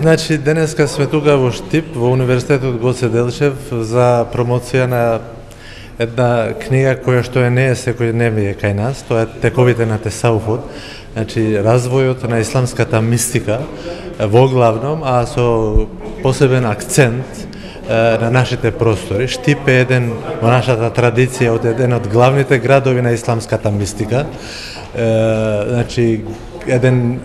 Значи, денеска сме тука во Штип, во Универзитетот Гоце Делчев, за промоција на една книга која што не е секојдневие кај нас, тоа е Тековите на Тесауфот, значи развојот на исламската мистика во главном, а со посебен акцент на нашите простори. Штип е еден во нашата традиција еден од главните градови на исламската мистика. Значи еден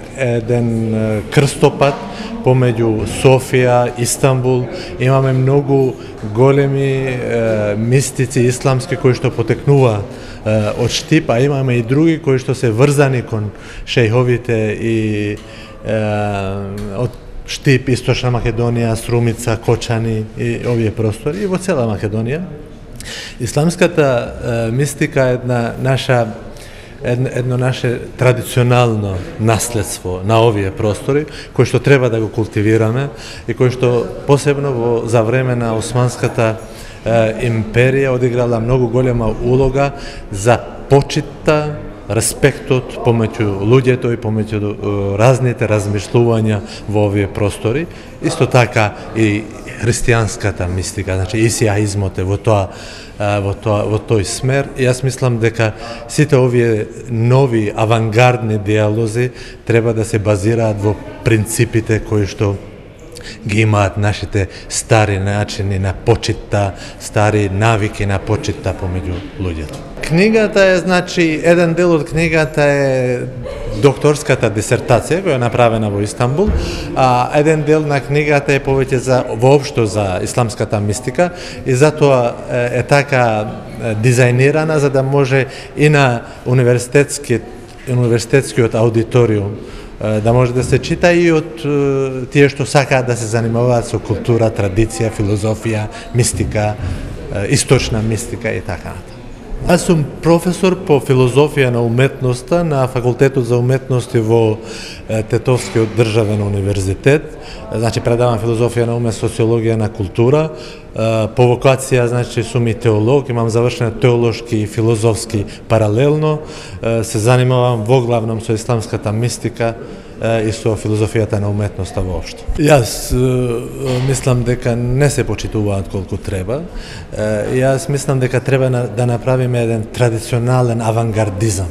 крстопат помеѓу Софија, Истанбул. Имаме многу големи мистици исламски кои што потекнува од Штип, а имаме и други кои што се врзани кон шејховите и од Штип, Источна Македонија, Срумица, Кочани и овие простори, и во цела Македонија. Исламската мистика е едно наше традиционално наследство на овие простори, кој што треба да го култивираме и кој што посебно за време на Османската империја одиграла многу голема улога за почитта, респектот помеѓу луѓето и помеѓу разните размишлувања во овие простори. Исто така и христијанската мистика, значи исиаизмот е во тој смер. И јас мислам дека сите овие нови авангардни диалози треба да се базираат во принципите кои што ги имаат нашите стари начини на почитта, стари навики на почитта помеѓу луѓето. Книгата е, значи, еден дел од книгата е докторската дисертација која е направена во Истанбул, а еден дел на книгата е повеќе воопшто за исламската мистика и затоа е така дизајнирана за да може и на универзитетскиот аудиториум да може да се чита и од тие што сакаат да се занимаваат со култура, традиција, филозофија, мистика, источна мистика и така натаму. Аз сум професор по филозофија на уметноста на Факултетот за уметности во Тетовскиот државен универзитет. Значи предавам филозофија на умет, социологија на култура. По вокација, значи, сум и теолог, имам завршен теолошки и филозофски паралелно. Се занимавам во главном со исламската мистика и со филозофијата на уметноста воопшто. Јас мислам дека не се почитуваат колку треба. Јас мислам дека треба да направиме еден традиционален авангардизам.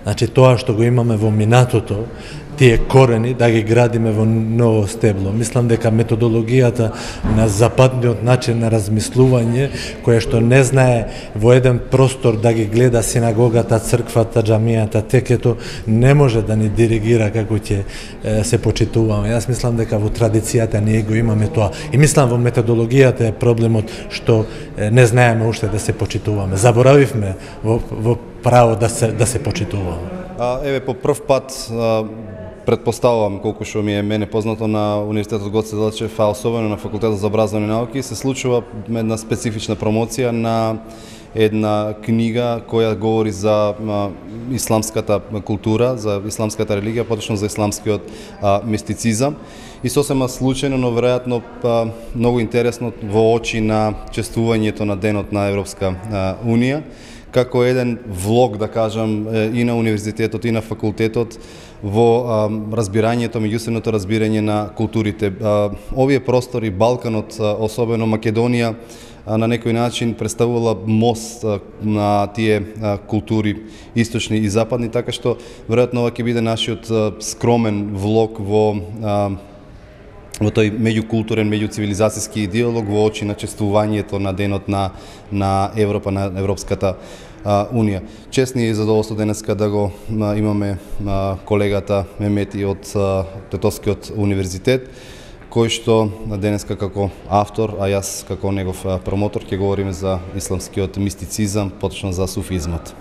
Значи тоа што го имаме во минатото, тие корени да ги градиме во ново стебло. Мислам дека методологијата на западниот начин на размислување, која што не знае во еден простор да ги гледа синагогата, црквата, џамијата, текето, не може да ни диригира како ќе се почитуваме. Јас мислам дека во традицијата ние го имаме тоа. И мислам во методологијата е проблемот што не знаеме уште да се почитуваме. Заборавивме во право да се почитуваме. Еве, по прв пат предпоставувам, колку што ми е мене познато, на Универзитетот Гоце Делчев, а особено на Факултетот за образовни науки, се случува една специфична промоција на една книга која говори за исламската култура, за исламската религија, поточно за исламскиот мистицизам. И сосема случајно, но веројатно многу интересно во очи на чествувањето на Денот на Европска Унија, како еден влог, да кажам, и на универзитетот и на факултетот во разбирањето, меѓусебното разбирање на културите. Овие простори, Балканот, особено Македонија, на некој начин представувала мост на тие култури источни и западни, така што веројатно ова ќе биде нашиот скромен влог во тој меѓукултурен, меѓуцивилизацијски диалог во очи на чествувањето на Денот на Европа, на Европската Унија. Чест ни е задоволство денеска да го имаме колегата Мемети од Тетовскиот универзитет, кој што денеска како автор, а јас како негов промотор ќе говориме за исламскиот мистицизам, поточно за суфизмот.